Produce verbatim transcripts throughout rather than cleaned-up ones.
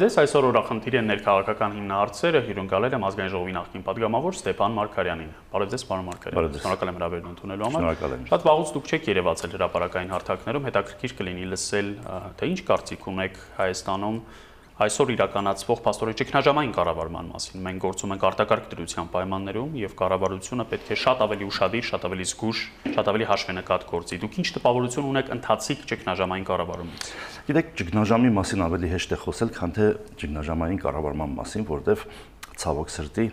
ձեզ, այսօր օրախնդիր են ներքաղաքական հիմնահարցերը, հյուրընկալել եմ ազգային ժողովի նախկին падգամավոր Ստեփան Մարգարյանին։ Բարև ձեզ, պարոն Մարգարյան։ Շնորհակալ եմ հրավերն ընդունելու համար։ Շատ վաղուց դուք չեք երևացել հրապարակային հարթակներում, հետաքրքիր կլինի լսել, թե ինչ կարծիք ունեք Հայաստանում այսօր իրականացվող փաստորեն ճգնաժամային կառավարման մասին։ Մենք գործում ենք արտակարգ դրության պայմաններում եւ կառավարությունը պետք է շատ ավելի ուշադիր, շատ ավելի զգուշ, շատ ավելի հաշվենկատ գործի։ Դուք ինչ տպավորություն ունեք ընթացիկ ճգնաժամային կառավարումից։ Գիտեք, ճգնաժամի մասին ավելի հեշտ է խոսել, քան թե ճգնաժամային կառավարման մասին, որտեղ ցավոք սրտի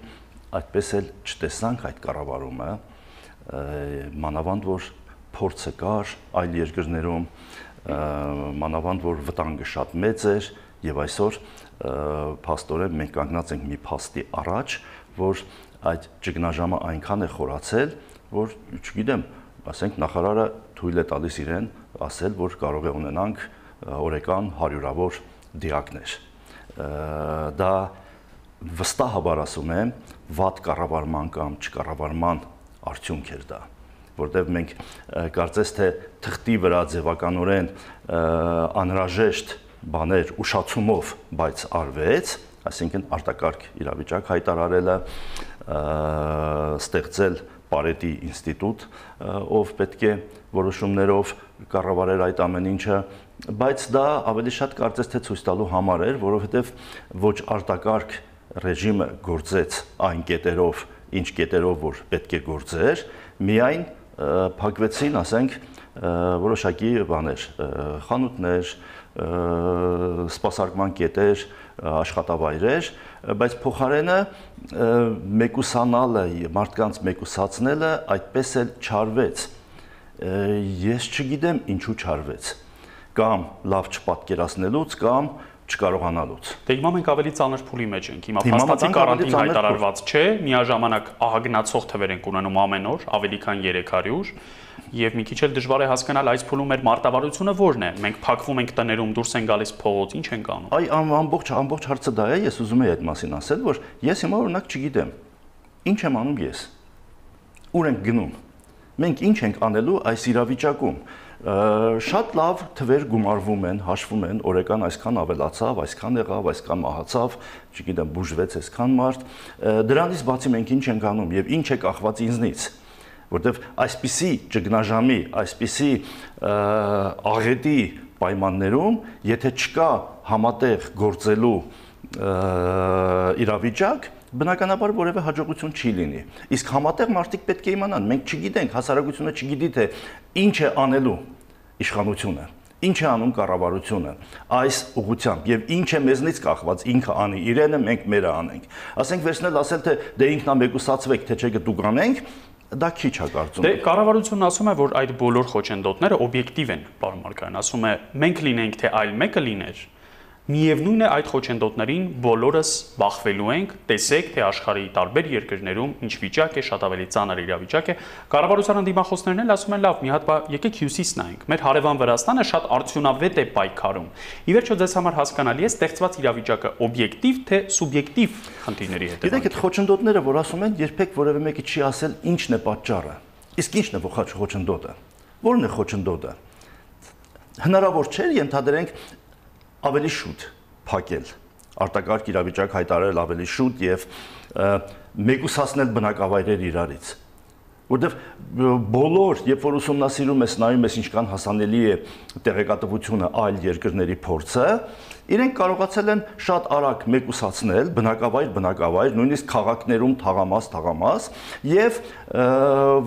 այդպես էլ չտեսանք այդ կառավարումը, մանավանդ որ փորձը կար այլ երկրներում, մանավանդ որ վտանգը շատ մեծ էր, եւ այսօր փաստորեն մենք կանգնած ենք մի փաստի առաջ, որ այդ ճգնաժամը այնքան է խորացել, որ չգիտեմ, ասենք նախարարը թույլ է տալիս իրեն ասել, որ կարող է ունենանք օրեկան հարյուրավոր դիակներ։ Դա վստահաբար ասում եմ, վատ կառավարման կամ չկառավարման արդյունք էր դա, որտեղ մենք կարծես թե թղթի վրա ձևականորեն անհրաժեշտ բաներ ուշացումով, բայց արվեց, այսինքն արտակարգ իրավիճակ հայտարարելը, ստեղծել Պարետի ինստիտուտ, ով պետք է որոշումներով կառավարել այդ ամեն ինչը, բայց դա ավելի շատ կարծես թե ցույց տալու համար էր, որովհետև ոչ արտակարգ ռեժիմը գործեց այն կետերով, ինչ կետերով որ պետք է գործեր, միայն փակվեցին, ասենք, որոշակի բաներ, խանութներ, սպասարկման կետեր, աշխատավայրեր, բայց փոխարենը մեկուսանալը, մարդկանց մեկուսացնելը այդպես էլ չարվեց։ Ես չգիտեմ ինչու չարվեց, կամ լավ չպատկերացնելուց, կամ չկարողանալուց։ Դե հիմա մենք ավելի ծանր փուլի մեջ ենք։ Հիմա փաստացի կարանտին հայտարարված չէ, միաժամանակ ահագնացող թվեր ենք ունենում ամեն օր, ավելի քան երեք հարյուր, եւ մի քիչ էլ դժվար է հասկանալ այս փուլում մեր մարտավարությունը որն է։ Մենք փակվում ենք տներում, դուրս են գալիս փողոց, ինչ ենք անում։ Այ ամբողջ ամբողջ հարցը դա է, ես ուզում եի այդ մասին ասել, որ ես հիմա օրինակ չգիտեմ։ Ինչ եմ անում ես։ Ուր ենք գնում։ Մենք ինչ ենք անելու այս իրավիճակում։ Շատ լավ թվեր գումարվում են, հաշվում են, օրեկան այսքան ավելացավ, այսքան եղավ, այսքան մահացավ, չգիտեմ, բուժվեց այսքան մարդ։ Դրանից բացի մենք ինչ ենք անում եւ ինչ է կախված ինձնից, որտեվ այսպիսի ճգնաժամի, այսպիսի աղետի պայմաններում, եթե չկա համատեղ գործելու իրավիճակ, բնականաբար որևէ հաջողություն չի լինի։ Իսկ համատեղ մարդիկ պետք է իմանան, մենք չգիտենք, հասարակությունը չգիտի թե ինչ է անելու իշխանությունը, ինչ է անում կառավարությունը այս ուղղությամբ եւ ինչ է մեզնից կախված, ինքը անի իրենը, մենք մերը անենք։ Ասենք վերցնել ասել թե դե ինքնամեկուսացվեք, թե չէ դուք անենք, դա քիչ է կարծում։ Դե կառավարությունն ասում է, որ այդ բոլոր խոչընդոտները օբյեկտիվ են, պարոն Մարգարյան, ասում է, մենք լինենք, թե այլ մեկը լիներ, միևնույն է այդ խոչընդոտներին բոլորս բախվելու ենք, տեսեք, թե աշխարհի տարբեր երկրներում ինչ վիճակ է, շատ ավելի ծանր իրավիճակ է։ Կառավարության դիմախոսներն էլ ասում են, լավ, մի հատ եկեք հյուսիս նայենք։ Մեր հարևան Վրաստանը շատ արդյունավետ է պայքարում։ Ի վերջո ձեզ համար հասկանալի է ստեղծված իրավիճակը օբյեկտիվ թե սուբյեկտիվ խնդիրների հետևանք։ Գիտեք, այդ խոչընդոտները, որ ասում են, երբեք որևէ մեկը չի ասել ինչն է պատճառը։ Իսկ ինչն է խոչընդոտը։ Որն է խոչընդոտը։ Հնարավոր չէ ենթադրենք ավելի շուտ փակել, արտակարգ իրավիճակ հայտարարել ավելի շուտ եւ մեկուսացնել բնակավայրեր իրարից, որտեվ բոլոր, երբ որ ուսումնասիրում ես, նայում ես ինչքան հասանելի է տեղեկատվությունը այլ երկրների փորձը, իրենք կարողացել են շատ արագ մեկուսացնել բնակավայր, բնակավայր, նույնիսկ քաղաքներում թաղամաս, թաղամաս, եւ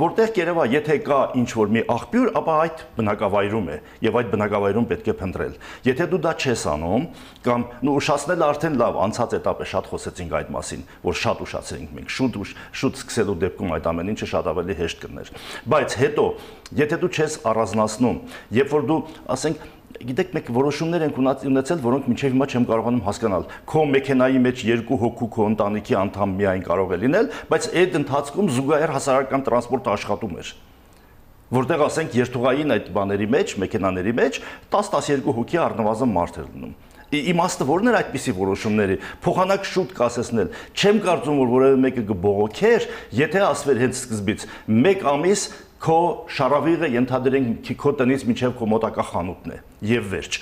որտեղ կերևա, եթե կա ինչ-որ մի աղբյուր, ապա այդ բնակավայրում է, եւ այդ բնակավայրում պետք է փնտրել։ Եթե դու դա չես անում, կամ նու ուշացնելը արդեն լավ, անցած էտապ է, շատ խոսեցինք այդ մասին, որ շատ ուշացրինք մենք, շուտ շուտ սկսելու դեպքում այդ ամեն ինչը շատ ավելի հեշտ կներ։ Բայց հետո, եթե դու չես առանձնացնում, երբ որ դու, ասենք, գիտեք, մենք որոշումներ ենք ունեցել, որոնք մինչև հիմա չեմ կարողանում հասկանալ։ Քո մեքենայի մեջ երկու հոգու քո ընտանիքի անդամ միայն կարող է լինել, բայց այդ ընթացքում զուգահեռ հասարակական տրանսպորտը աշխատում էր։ Որտեղ ասենք երթուղային այդ բաների մեջ, մեքենաների մեջ տասը-տասներկու հոգի առնվազն մարդ էր լինում։ Իմաստը որն էր այդպիսի որոշումների, փոխանակ շուտ կասեցնել։ Չեմ կարծում, որ որևէ մեկը կբողոքեր, եթե ասվեր հենց սկզբից մեկ ամիս քո շարավիղը ենթադրենք քո տնից մինչև քո մոտակա խանութն է եւ վերջ։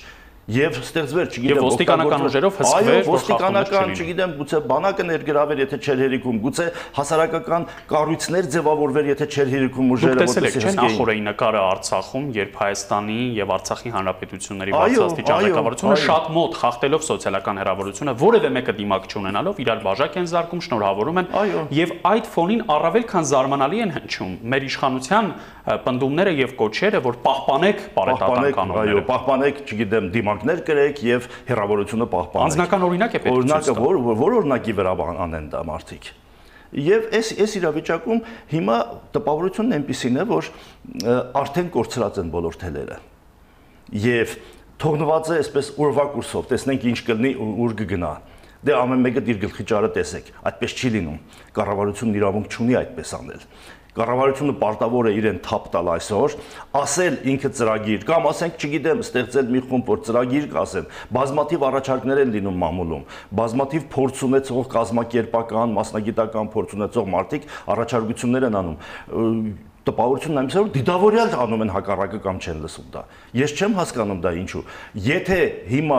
Եվ ստեղծվեր, չգիտեմ, եւ ոստիկանական ուժերով հսկվեր, այո, ոստիկանական, չգիտեմ, գուցե բանակը ներգրավեր, եթե չէր հերիքում, գուցե հասարակական կառույցներ ձևավորվեր, եթե չէր հերիքում ուժերը, որտեսել եք, նախորդային նկարը Արցախում, երբ Հայաստանի եւ Արցախի հանրապետությունների բարձրաստիճան ղեկավարությունը շատ մոտ խախտելով սոցիալական հերավորությունը, որևէ մեկը դիմակ չունենալով իրար բաժակ են զարկում, շնորհավորում են եւ այդ ֆոնին առավել քան զարմանալի են հնչում մեր իշխանության պնդումները եւ կոչերը, որ պահպանեք բարետատան կանոնները։ Այո, պահպանեք, չգիտեմ, դիմակներ կրեք եւ հերավորությունը պահպանեք։ Անձնական օրինակ է պետք։ Օրինակը որ որ օրինակի վրա անեն դա մարդիկ։ Եվ այս այս իրավիճակում հիմա տպավորությունն այնպեսին է, որ արդեն կորցրած են բոլոր թելերը։ Եվ թողնված է այսպես ուրվա կուրսով, տեսնենք ինչ կլինի, ուր կգնա։ Դե ամեն մեկը իր գլխի ճարը տեսեք, այդպես չի լինում։ Կառավարությունն իրավունք չունի այդպես անել։ Կառավարությունը պարտավոր է իրեն թափ տալ այսօր, ասել ինքը ծրագիր, կամ ասենք, չգիտեմ, ստեղծել մի խումբ, որ ծրագիր կասեն, բազմաթիվ առաջարկներ են լինում մամուլում, բազմաթիվ փորձ ունեցող կազմակերպական, մասնագիտական փորձ ունեցող մարդիկ առաջարկություններ են անում։ Տպավորությունն այնպես է, որ դիտավորյալ անում են հակառակը կամ չեն լսում դա։ Ես չեմ հասկանում դա ինչու։ Եթե հիմա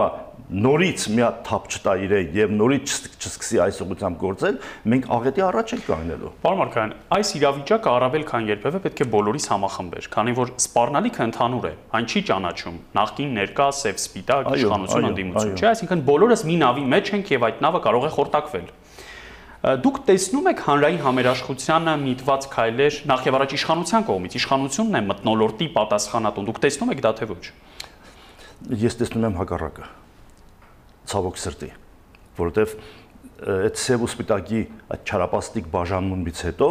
նորից մի հատ թափ չտա իրեն եւ նորից չսկսի այս ուղղությամբ գործել, մենք աղետի առաջ ենք կանգնելու։ Պարոն Մարկարյան, այս իրավիճակը առավել քան երբևէ պետք է բոլորիս համախմբեր, քանի որ սպառնալիքը ընդհանուր է, այն չի ճանաչում նախկին, ներկա, սև, սպիտակ, իշխանություն, ընդդիմություն, չէ, այսինքն բոլորս մի նավի մեջ ենք եւ այդ նավը կարող է խորտակվել։ Դուք տեսնում եք հանրային համերաշխությանը միտված քայլեր նախ եւ առաջ իշխանության կողմից, իշխանությունն է մթնոլորտի պատասխանատուն, դուք տեսնում եք դա թե ոչ։ Ես տեսնում եմ հակառակը, ցավոք սրտի, որովհետեւ այդ սև ու սպիտակի այդ չարապաստիկ բաժանումից հետո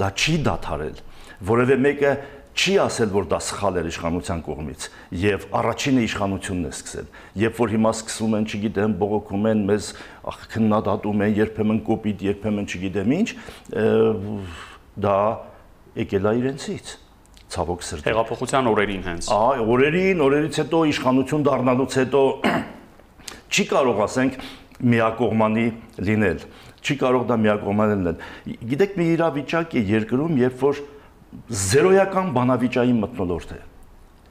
դա չի դադարել, որևէ մեկը չի ասել, որ դա սխալ էր իշխանության կողմից, եւ առաջինը իշխանությունն է սկսել։ Երբ որ հիմա սկսում են, չգիտեմ, բողոքում են, մեզ քննադատում են, երբեմն կոպիտ, երբեմն չգիտեմ ինչ, դա եկել է իրենցից։ Ցավոք սրտի։ Հեղափոխության օրերին հենց։ Այ, օրերին, օրերից հետո իշխանություն դառնալուց հետո չի կարող, ասենք, միակողմանի լինել։ Չի կարող դա միակողմանի լինել։ Գիտեք, մի իրավիճակ է երկրում, երբ որ զերոյական բանավիճային մթնոլորտ է։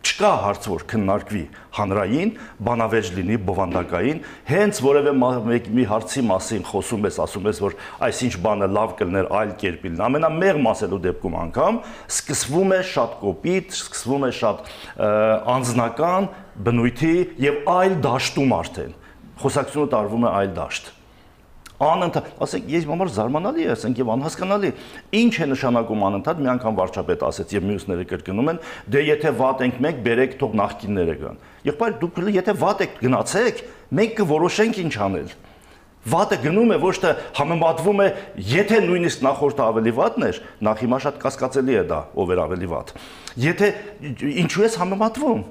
Չկա հարց, որ քննարկվի հանրային, բանավեճ լինի, բովանդակային, հենց որևէ մի հարցի մասին խոսում ես, ասում ես, որ այսինչ բանը լավ կլներ, այլ կերպ լինի։ Ամենամեղմ ասելու դեպքում անգամ սկսվում է շատ կոպիտ, սկսվում է շատ անձնական բնույթի եւ այլ դաշտում արդեն։ Խոսակցությունը տարվում է այլ դաշտ։ Անընդհատ, ասեք, ես համար զարմանալի է, ասենք եւ անհասկանալի։ Ինչ է նշանակում անընդհատ, մի անգամ վարչապետը ասեց եւ մյուսները կրկնում են, դե եթե վատ ենք մենք, բերեք թող նախկինները գան։ Եղբայր, դուք եթե վատ եք գնացեք, մենք կորոշենք ինչ անել։ Վատը գնում է, ոչ թե համեմատվում է, եթե նույնիսկ նախորդը ավելի վատն էր, նախ հիմա շատ կասկածելի է դա, ով էր ավելի վատ։ Եթե ինչու ես համեմատվում։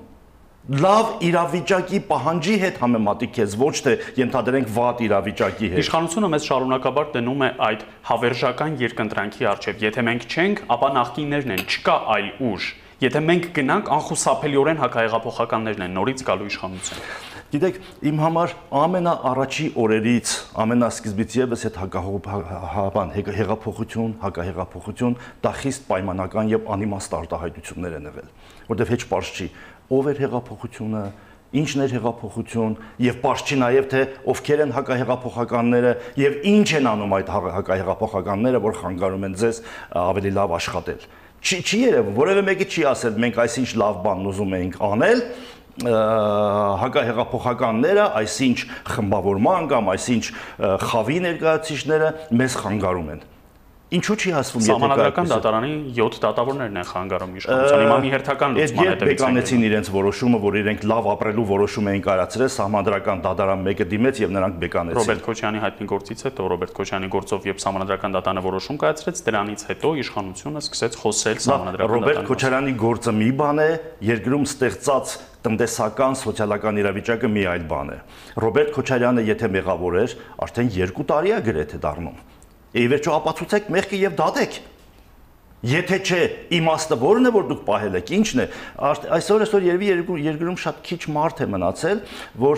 Լավ իրավիճակի պահանջի հետ համեմատի քեզ, ոչ թե ենթադրենք վատ իրավիճակի հետ։ Իշխանությունը մեզ շարունակաբար դնում է այդ հավերժական երկընտրանքի առջև։ Եթե մենք չենք, ապա նախկիններն են, չկա այլ ուժ։ Եթե մենք գնանք, անխուսափելիորեն հակահեղափոխականներն են, նորից գալու իշխանություն։ Գիտեք, իմ համար ամենաառաջի օրերից, ամենասկզբից եւս այդ հակահեղափոխական, հեղափոխություն, հակահեղափոխություն, դա խիստ պայմանական եւ անիմաստ արտահայտություններ են եղել, որտեղ հեչ պարզ չի ով էր հեղափոխությունը, ինչն էր հեղափոխություն եւ պարզ չի նաեւ թե ովքեր են հակահեղափոխականները եւ ինչ են անում այդ հակահեղափոխականները, որ խանգարում են ձեզ ավելի լավ աշխատել։ Չի չի երևում, որևէ մեկը չի ասել մենք այսինչ լավ բան ուզում էինք անել, հակահեղափոխականները, այսինչ խմբավորման կամ այսինչ խավի ներկայացուցիչները մեզ խանգարում են։ Ինչու չի ասվում, եթե Սահմանադրական դատարանի յոթ դատավորներն են խանգարում իշխանության, հիմա մի հերթական լուծման հետևից են։ Բեկանեցին իրենց որոշումը, որ իրենք լավ ապրելու որոշում էին կայացրել, Սահմանադրական դատարան մեկը դիմեց եւ նրանք բեկանեցին։ Ռոբերտ Քոչյանի հայտնի գործից հետո Ռոբերտ Քոչյանի գործով եւ Սահմանադրական դատարանը որոշում կայացրեց, դրանից հետո իշխանությունը սկսեց խոսել Սահմանադրական դատարանի։ Ռոբերտ Քոչյանի գործը մի բան է, երկրում ստեղծած տնտեսական, սոցիալական իրավիճակը մի այլ բան է։ Ռոբերտ Քոչարյանը եթե մեղավոր էր, արդեն երկու տարի է գրեթե դառնում։ Եվ վերջո ապացուցեք մեղքը եւ դատեք։ Եթե չէ, իմաստը որն է, որ դուք պահել եք, ինչն է։ Այսօր այսօր երևի երկրում շատ քիչ մարդ է մնացել, որ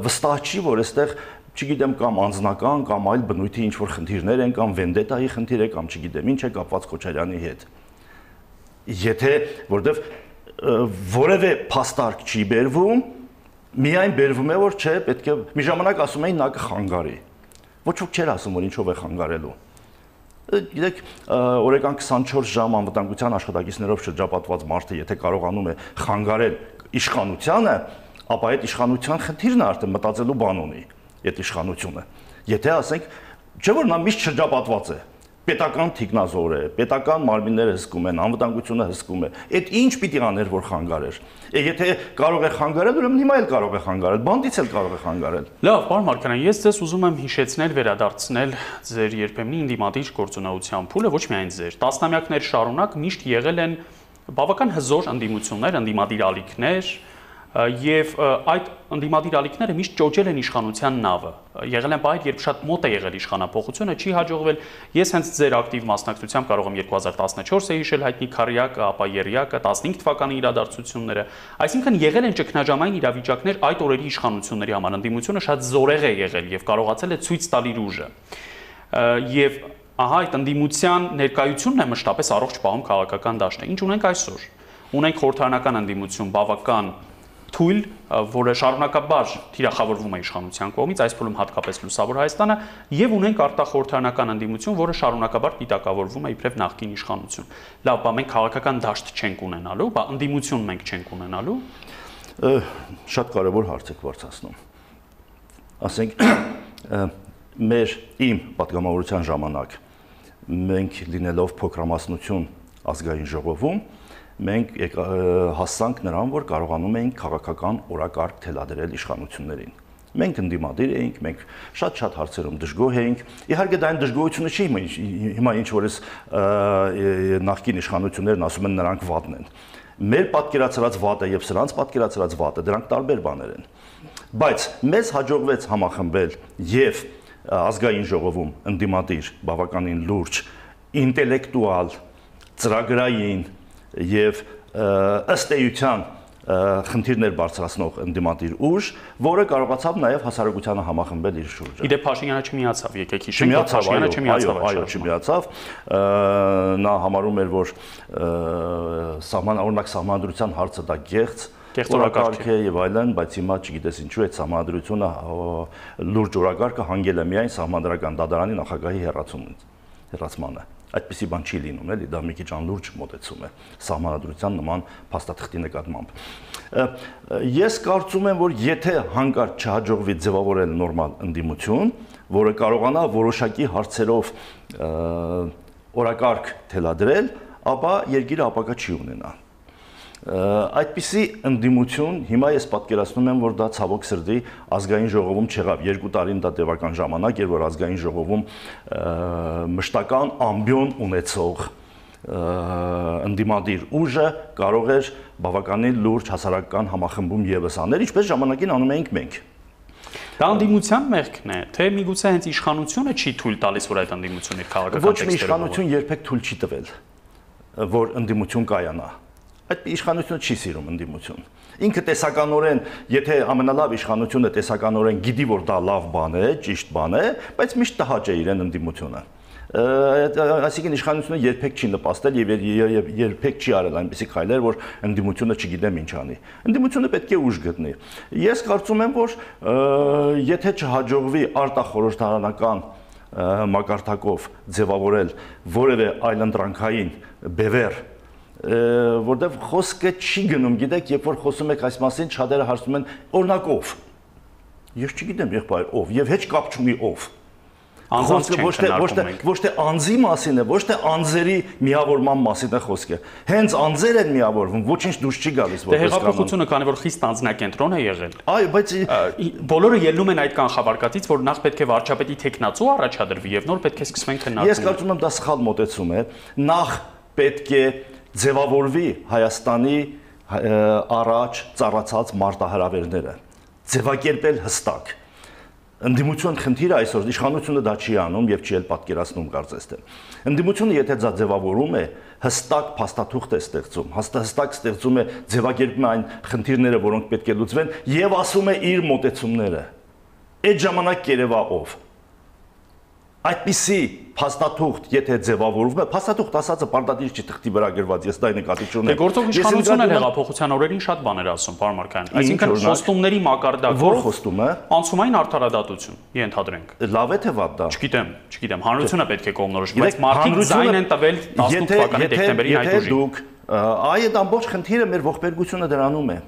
վստահ չի, որ այստեղ, չգիտեմ, կամ անձնական, կամ այլ բնույթի ինչ որ խնդիրներ են, կամ վենդետայի խնդիր է, կամ չգիտեմ ինչ է կապված Քոչարյանի հետ։ Եթե որտեվ որևէ փաստարկ չի բերվում, Միայն բերվում է որ չէ, պետք է մի ժամանակ ասում էին նա կխանգարի։ Ոչ ոք չէր ասում որ ինչով է խանգարելու։ Գիտեք, օրական քսանչորս ժամ անվտանգության աշխատակիցներով շրջապատված մարդը, եթե կարողանում է խանգարել իշխանությանը, ապա այդ իշխանության խնդիրն է արդեն մտածելու բան ունի, այդ իշխանությունը։ Եթե ասենք, չէ՞ որ նա միշտ շրջապատված է, պետական թիկնազոր է, պետական մարմինները հսկում են, անվտանգությունը հսկում է։ Այդ ինչ պիտի աներ որ խանգարեր։ Եթե կարող է խանգարել, ուրեմն հիմա էլ կարող է խանգարել, բանդից էլ կարող է խանգարել։ Լավ, պարոն Մարգարյան, ես ձեզ ուզում եմ հիշեցնել, վերադարձնել ձեր երբեմնի ինդիմատիվ գործունեության փուլը, ոչ միայն ձեր։ Տասնամյակներ շարունակ միշտ եղել են բավական հզոր ընդդիմություններ, ընդդիմադիր ալիքներ, եւ այդ ընդդիմադիր ալիքները միշտ ճոճել են իշխանության նավը։ Եղել են բայր, երբ շատ մոտ է եղել իշխանափոխությունը, չի հաջողվել։ Ես հենց ձեր ակտիվ մասնակցությամբ կարող եմ երկու հազար տասնչորսը հիշել հայտնի Քարյակը, ապա Երիակը, տասնհինգ թվականի իրադարձությունները։ Այսինքն եղել են ճգնաժամային իրավիճակներ այդ օրերի իշխանությունների համար։ Ընդդիմությունը շատ զորեղ է եղել եւ կարողացել է ցույց տալ իր ուժը։ Եվ ահա այդ ընդդիմության ներկայությունն է մշտապես առողջ պահում քաղաքական դաշտը։ Ինչ ունենք այսօր։ Ունենք խորհրդարանական ընդդիմություն բավական թույլ, որը շարունակաբար թիրախավորվում է իշխանության կողմից, այս փուլում հատկապես Լուսավոր Հայաստանը, եւ ունենք արտախորհրդարանական ընդդիմություն, որը շարունակաբար պիտակավորվում է իբրև նախկին իշխանություն։ Լավ, բա մենք քաղաքական դաշտ չենք ունենալու, բա ընդդիմություն մենք չենք ունենալու։ Շատ կարևոր հարց եք բարձրացնում։ Ասենք մեր իմ պատգամավորության ժամանակ մենք լինելով փոքրամասնություն ազգային ժողովում մենք հասանք նրան, որ կարողանում էինք քաղաքական օրակարգ թելադրել իշխանություններին։ Մենք ընդդիմադիր էինք, մենք շատ-շատ հարցերում դժգոհ էինք։ Իհարկե դա այն դժգոհությունը չի, հիմա ինչ որ էս նախկին իշխանություններն ասում են նրանք վատն են։ Մեր պատկերացրած վատը եւ սրանց պատկերացրած վատը դրանք տարբեր բաներ են։ Բայց մեզ հաջողվեց համախմբել եւ ազգային ժողովում ընդդիմադիր, բավականին լուրջ, ինտելեկտուալ, ծրագրային եւ ըստ էության խնդիրներ բարձրացնող ընդդիմադիր ուժ, որը կարողացավ նաեւ հասարակությանը համախմբել իր շուրջը։ Իդեպ Փաշինյանը չմիացավ, եկեք հիշենք, Փաշինյանը չմիացավ, այո, չմիացավ։ Նա համարում էր, որ սահման օրինակ սահմանադրության հարցը դա գեղձ օրակարգ է եւ այլն, բայց հիմա չգիտես ինչու այդ սահմանադրությունը լուրջ օրակարգը հանգել է միայն սահմանադրական դատարանի նախագահի հեռացմանը։ Այդպիսի բան չի լինում, էլի, դա մի քիչ անլուրջ մոտեցում է սահմանադրության նման փաստաթղթի նկատմամբ։ Ես կարծում եմ, որ եթե հանկարծ չհաջողվի ձևավորել նորմալ ընդդիմություն, որը կարողանա որոշակի հարցերով օրակարգ թելադրել, ապա երկիրը ապագա չի ունենա։ Այդպիսի ընդդիմություն հիմա ես պատկերացնում եմ, որ դա ցավոք սրտի ազգային ժողովում չեղավ։ Երկու տարին դա տևական ժամանակ էր, որ ազգային ժողովում մշտական ամբիոն ունեցող ընդդիմադիր ուժը կարող էր բավականին լուրջ հասարակական համախմբում ևս անել, ինչպես ժամանակին անում էինք մենք։ Դա ընդդիմության մեղքն է, թե միգուցե հենց իշխանությունը չի թույլ տալիս, որ այդ ընդդիմությունը իր քաղաքական Ոչ մի իշխանություն երբեք թույլ չի տվել, որ ընդդիմություն կայանա։ Այդ իշխանությունը չի սիրում ընդդիմություն։ Ինքը տեսականորեն, եթե ամենալավ իշխանությունը տեսականորեն գիտի, որ դա լավ բան է, ճիշտ բան է, բայց միշտ տհաճ է իրեն ընդդիմությունը։ Այսինքն իշխանությունը երբեք չի նպաստել եւ երբեք չի արել այնպիսի քայլեր, որ ընդդիմությունը չգիտեմ ինչ անի։ Ընդդիմությունը պետք է ուժ գտնի։ Ես կարծում եմ, որ եթե չհաջողվի արտախորհրդարանական մակարդակով ձևավորել որևէ այլընտրանքային բևեռ, որտեղ խոսքը չի գնում, գիտեք, երբ որ խոսում եք այս մասին, շատերը հարցնում են օրինակ ով։ Ես չգիտեմ եղբայր ով եւ հետ կապ չունի ով։ Խոսքը ոչ թե ոչ թե ոչ թե անձի մասին է, ոչ թե անձերի միավորման մասին է խոսքը։ Հենց անձեր են միավորվում, ոչինչ դուրս չի գալիս որպես կանոն։ Դե հեղափոխությունը, քանի որ խիստ անձնակենտրոն է եղել։ Այո, բայց բոլորը ելնում են այդ կանխավարկածից, որ նախ պետք է վարչապետի տեխնացու առաջադրվի եւ նոր պետք է սկսվեն քննարկումները։ Ես կարծում եմ դա սխալ մոտեցում է։ Նախ պետք է ձևավորվի Հայաստանի առաջ ծառացած մարտահրավերները, ձևակերպել հստակ։ Ընդդիմություն խնդիրը այսօր իշխանությունը դա չի անում եւ չի էլ պատկերացնում կարծես թե։ Ընդդիմությունը եթե դա ձևավորում է, հստակ փաստաթուղթ է ստեղծում, հստակ ստեղծում է ձևակերպում այն խնդիրները, որոնք պետք է լուծվեն եւ ասում է իր մոտեցումները։ Այդ ժամանակ կերևա ով։ այդպիսի փաստաթուղթ, եթե ձևավորվում է, փաստաթուղթ ասածը պարտադիր չի թղթի վրա գրված, ես դա նկատի չունեմ։ Դե գործող իշխանությունն էլ հեղափոխության օրերին շատ բաներ ասում, պարոն Մարկարյան։ Այսինքն խոստումների մակարդակով որ խոստումը անցումային արդարադատություն, ենթադրենք։ Լավ է թե վատ դա։ Չգիտեմ, չգիտեմ, հանրությունը պետք է կողմնորոշի, բայց մարդիկ ձայն են տվել տասնութ թվականի դեկտեմբերին այդ ուժին։ Դուք այդ ամբողջ խնդիրը մեր ողբերգությունը դրանում է։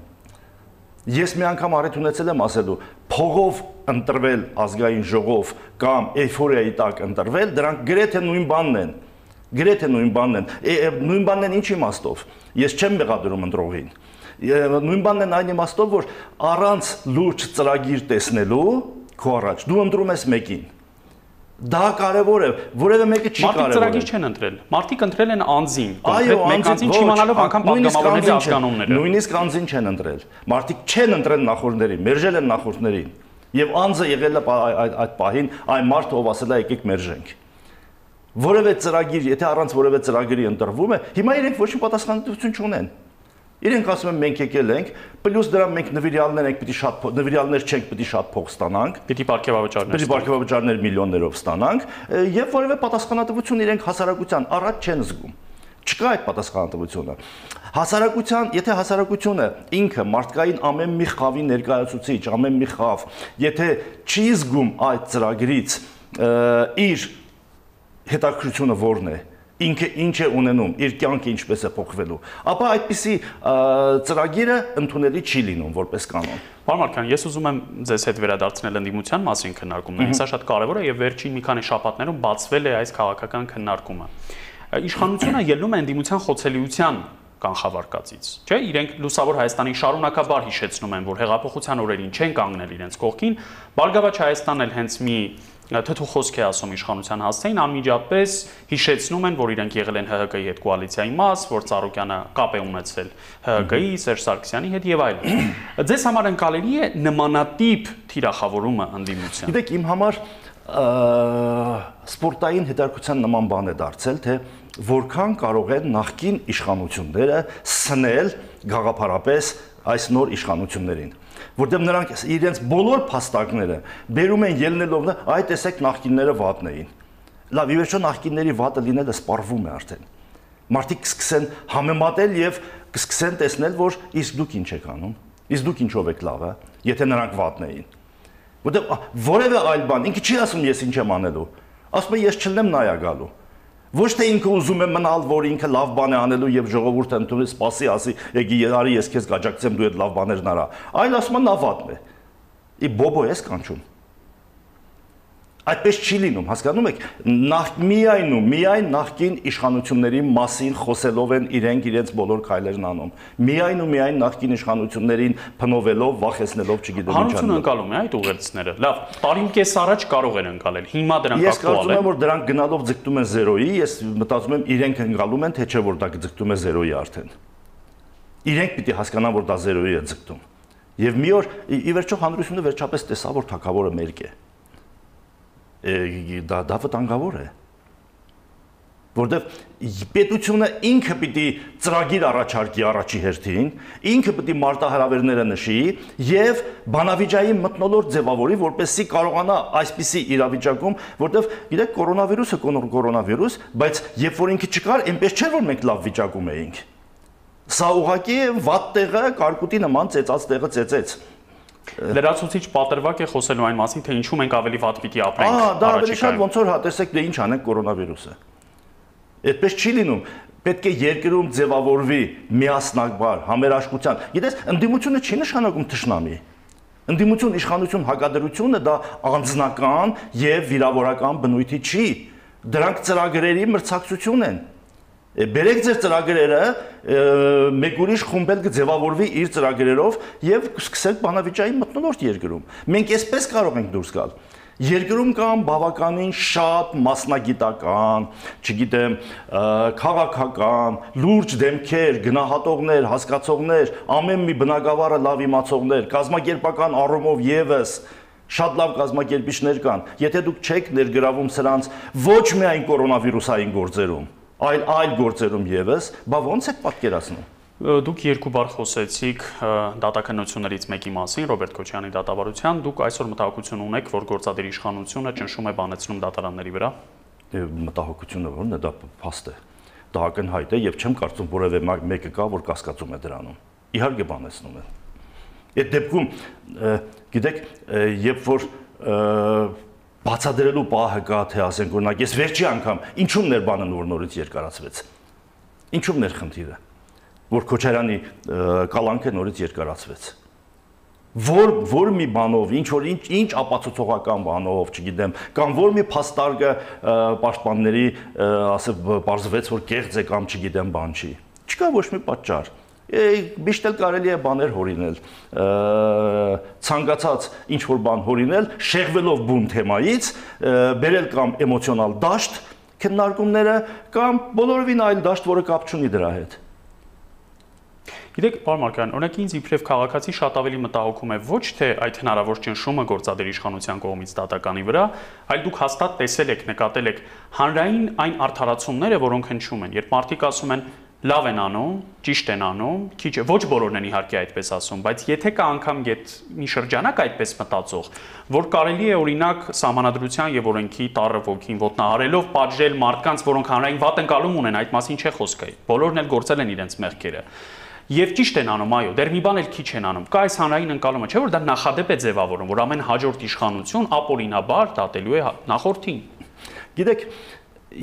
Ես մի անգամ առիթ ունեցել եմ ասելու, փողով ընտրվել ազգային ժողով կամ էյֆորիայի տակ ընտրվել, դրանք գրեթե նույն բանն են։ Գրեթե նույն բանն են։ Նույն բանն են ինչ իմաստով։ Ես չեմ մեղադրում ընտրողին։ Նույն բանն են այն իմաստով, որ առանց լուրջ ծրագիր տեսնելու քո առաջ դու ընտրում ես մեկին։ Դա կարևոր է, որևէ մեկը չի կարևոր։ Մարդիկ ծրագիր չեն ընտրել։ Մարդիկ ընտրել են անձին, կոնկրետ մեկ անձին չիմանալով անգամ պատգամավորների ազգանունները։ Նույնիսկ անձին չեն ընտրել։ Մարդիկ չեն ընտրել նախորդներին, մերժել են նախորդներին։ Եվ անձը եղել է այդ պահին այն մարդը, ով ասել է եկեք մերժենք։ Որևէ ծրագիր, եթե առանց որևէ ծրագրի ընտրվում է, հիմա իրենք ոչ մի պատասխանատվություն չունեն։ Իրենք ասում են մենք եկել ենք, պլյուս դրա մենք նվիրյալներ ենք, պիտի շատ նվիրյալներ չենք, պիտի շատ փող ստանանք, պիտի պարգևավճարներ, պիտի պարգևավճարներ միլիոններով ստանանք, եւ որևէ պատասխանատվություն իրենք հասարակության առաջ չեն զգում։ Չկա այդ պատասխանատվությունը։ Հասարակության, եթե հասարակությունը ինքը մարդկային ամեն մի խավի ներկայացուցիչ, ամեն մի խավ, եթե չի զգում այդ ծրագրից իր հետաքրքրությունը որն է, ինքը ինչ է ունենում, իր կյանքը ինչպես է փոխվելու, ապա այդպիսի ծրագիրը ընդունելի չի լինում որպես կանոն։ Պարոն Մարկարյան, ես ուզում եմ ձեզ հետ վերադարձնել ընդդիմության մասին քննարկումներին, սա շատ կարևոր է եւ վերջին մի քանի շաբաթներում բացվել է այս քաղաքական քննարկումը։ Իշխանությունը ելնում է ընդդիմության խոցելիության կանխավարկածից, չէ՞, իրենք լուսավոր Հայաստանի շարունակաբար հիշեցնում են, որ հեղափոխության օրերին չեն կանգնել իրենց կողքին, Բարգավաճ Հայաստանն էլ հենց մի թթու խոսք է ասում իշխանության հասցեին, անմիջապես հիշեցնում են, որ իրենք եղել են Հ Հ Կ-ի հետ կոալիցիայի մաս, որ Ծառուկյանը կապ է ունեցել Հ Հ Կ-ի, Սերժ Սարգսյանի հետ եւ այլն։ Ձեզ համար ընկալելի է նմանատիպ թիրախավորումը ընդդիմության։ Գիտեք, իմ համար սպորտային հետաքրքրության նման բան է դարձել, թե որքան կարող են նախկին իշխանությունները սնել գաղափարապես այս նոր իշխանություններին, որտեղ նրանք իրենց բոլոր փաստարկները բերում են ելնելով, այ տեսեք նախկինները վատն էին։ Լավ, ի վերջո նախկինների վատը լինելը սպառվում է արդեն։ Մարդիկ կսկսեն համեմատել եւ կսկսեն տեսնել, որ իսկ դուք ինչ եք անում, իսկ դուք ինչով եք լավը, եթե նրանք վատն էին։ Որտեղ որևէ այլ բան, ինքը չի ասում ես ինչ եմ անելու, ասում է ես չլնեմ նայա գալու։ Ոչ թե ինքը ուզում է մնալ, որ ինքը լավ բան է անելու եւ ժողովուրդը ընդունի, սպասի, ասի, եկի արի ես քեզ գաջակցեմ, դու այդ լավ բաներն արա։ Այլ ասում է նա վատն է։ Ի բոբո ես կանչում։ Այդպես չի լինում, հասկանում եք, նախ միայն ու միայն նախկին իշխանությունների մասին խոսելով են իրենք իրենց բոլոր քայլերն անում։ Միայն ու միայն նախկին իշխանություններին փնովելով, վախեցնելով, չգիտեմ ինչ անելու։ Հանրությունը ընկալում է այդ ուղերձները։ Լավ, տարին կես առաջ կարող են ընկալել։ Հիմա դրանք ակտուալ են։ Ես կարծում եմ, որ դրանք գնալով ձգտում են զերոյի, ես մտածում եմ իրենք ընկալում են, թե չէ որ դա ձգտում է զերոյի արդեն։ Իրենք պիտի հասկանան, որ դա զերոյի է ձգտում։ Եվ մի օր ի վերջո հանրությունը վերջապես տեսավ, որ թագավորը մերկ է։ Դա դա վտանգավոր է, որտեղ պետությունը ինքը պիտի ծրագիր առաջարկի առաջի հերթին, ինքը պիտի մարտահրավերները նշի եւ բանավիճայի մթնոլորտ ձևավորի, որպեսզի կարողանա այսպիսի իրավիճակում, որտեղ գիտեք կորոնավիրուսը կորոնավիրուս, բայց երբ որ ինքը չկար, այնպես չէր որ մենք լավ վիճակում էինք։ Սա ուղղակի վատ տեղը կարկուտի նման ծեծած տեղը ծեծեց։ Լրացուցիչ պատրվակ է խոսելու այն մասին, թե ինչու մենք ավելի վատ պիտի ապրենք։ Ահա, դա ավելի շատ ոնց որ հա տեսեք, դե ինչ անենք կորոնավիրուսը։ Այդպես չի լինում։ Պետք է երկրում ձևավորվի միասնական համերաշխության։ Գիտես, ընդդիմությունը չի նշանակում թշնամի։ Ընդդիմություն, իշխանություն, հակադրությունը դա անձնական եւ վիրավորական բնույթի չի։ Դրանք ծրագրերի մրցակցություն են։ Բերեք ձեր ծրագրերը, մեկ ուրիշ խումբ էլ կձևավորվի իր ծրագրերով եւ սկսեք բանավիճայի մթնոլորտ երկրում։ Մենք այսպես կարող ենք դուրս գալ։ Երկրում կան բավականին շատ մասնագիտական, չգիտեմ, քաղաքական, լուրջ դեմքեր, գնահատողներ, հասկացողներ, ամեն մի բնագավառը լավ իմացողներ, կազմակերպական առումով եւս շատ լավ կազմակերպիչներ կան։ Եթե դուք չեք ներգրավում սրանց ոչ միայն կորոնավիրուսային գործերում, այլ այլ գործերում եւս, բա ո՞նց եք պատկերացնում։ Դուք երկու բառ խոսեցիք դատաքննություններից մեկի մասին, Ռոբերտ Քոչարյանի դատավարության, դուք այսօր մտահոգություն ունեք, որ գործադիր իշխանությունը ճնշում է բանեցնում դատարանների վրա։ Մտահոգությունը ո՞րն է, դա փաստ է։ Դա ակնհայտ է եւ չեմ կարծում որևէ մեկը կա, որ կասկածում է դրանում։ Իհարկե բանեցնում են։ Այդ դեպքում, գիտեք, երբ որ բացադրելու պահը կա, թե ասենք օրինակ, ես վերջի անգամ ինչու՞մն էր բանը նոր-նորից երկարացվեց։ Ինչու՞մն էր խնդիրը, որ Քոչարյանի կալանքը նորից երկարացվեց։ Որ որ մի բանով, ինչ որ ինչ ինչ ապացուցողական բանով, չգիտեմ, կամ որ մի փաստարկը պաշտպանների ասել բարձվեց, որ կեղծ է կամ չգիտեմ բան չի։ Չկա ոչ մի պատճառ։ Միշտ էլ կարելի է բաներ հորինել, ցանկացած ինչ որ բան հորինել, շեղվելով բուն թեմայից, բերել կամ էմոցիոնալ դաշտ քննարկումները կամ բոլորովին այլ դաշտ, որը կապ չունի դրա հետ։ Գիտեք, պարոն Մարկարյան, օրինակ ինձ իբրև քաղաքացի շատ ավելի մտահոգում է ոչ թե այդ հնարավոր ճնշումը գործադիր իշխանության կողմից դատականի վրա, այլ դուք հաստատ տեսել եք, նկատել եք հանրային այն արդարացումները, որոնք հնչում են, երբ մարդիկ ասում են լավ են անում, ճիշտ են անում, քիչ ոչ բոլորն են իհարկե այդպես ասում, բայց եթե կա անգամ գետ մի շրջանակ այդպես մտածող, որ կարելի է օրինակ սահմանադրության եւ օրենքի տառը ոգին ոտնահարելով պատժել մարդկանց, որոնք հանրային վատ ընկալում ունեն, այդ մասին չէ խոսքը։ Բոլորն էլ գործել են իրենց մեղքերը։ Եվ ճիշտ են անում, այո, դեռ մի բան էլ քիչ են անում։ Կա այս հանրային ընկալումը, չէ՞ որ դա նախադեպ է ձևավորում, որ ամեն հաջորդ իշխանություն ապօրինաբար դատելու է նախորդին։ Գիտեք,